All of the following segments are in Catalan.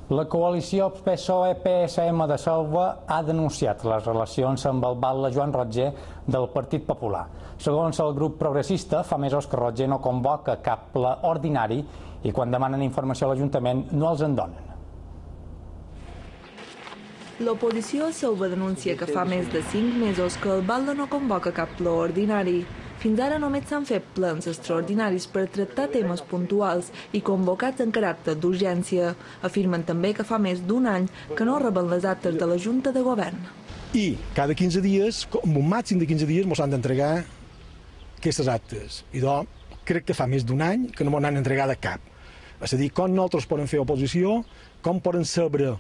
La coalició PSOE-PSM de Selva ha denunciat les relacions amb el batlle Joan Rotger del Partit Popular. Segons el grup progressista, fa mesos que Rotger no convoca cap ple ordinari i quan demanen informació a l'Ajuntament no els en donen. L'oposició a Selva denuncia que fa més de 5 mesos que el batlle no convoca cap ple ordinari. Fins ara només s'han fet plens extraordinaris per tractar temes puntuals i convocats en caràcter d'urgència. Afirmen també que fa més d'un any que no reben les actes de la Junta de Govern. I cada 15 dies, amb un màxim de 15 dies, ens han d'entregar aquestes actes. I crec que fa més d'un any que no m'ho han entregat cap. És a dir, com nosaltres podem fer oposició, com poden saber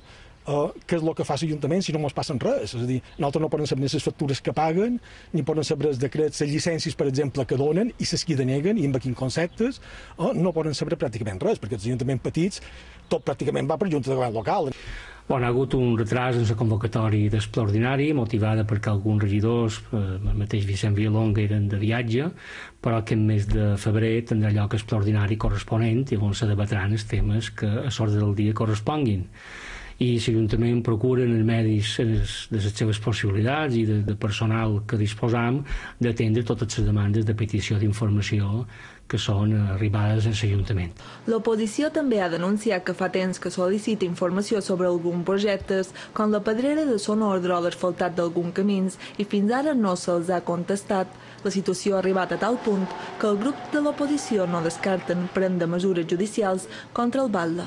què és el que fa l'Ajuntament si no ens passen res. És a dir, nosaltres no poden saber ni les factures que paguen, ni poden saber els decrets, les llicències, per exemple, que donen i les que deneguen i amb quins conceptes, no poden saber pràcticament res, perquè els ajuntaments petits tot pràcticament va per Junta de Govern local. Hi ha hagut un retras en la convocatòria del ple ordinari, motivada perquè alguns regidors, el mateix Vicent Villalonga, eren de viatge, però aquest mes de febrer tindrà lloc el ple ordinari corresponent i on se debatran els temes que a l'ordre del dia corresponguin. I l'Ajuntament procura en els medis de les seves possibilitats i de personal que disposam d'atendre totes les demandes de petició d'informació que són arribades a l'Ajuntament. L'oposició també ha denunciat que fa temps que sol·licita informació sobre alguns projectes, com la pedrera de Son Ordre o l'asfaltat d'alguns camins, i fins ara no se'ls ha contestat. La situació ha arribat a tal punt que el grup de l'oposició no descarten prendre mesures judicials contra el batlle.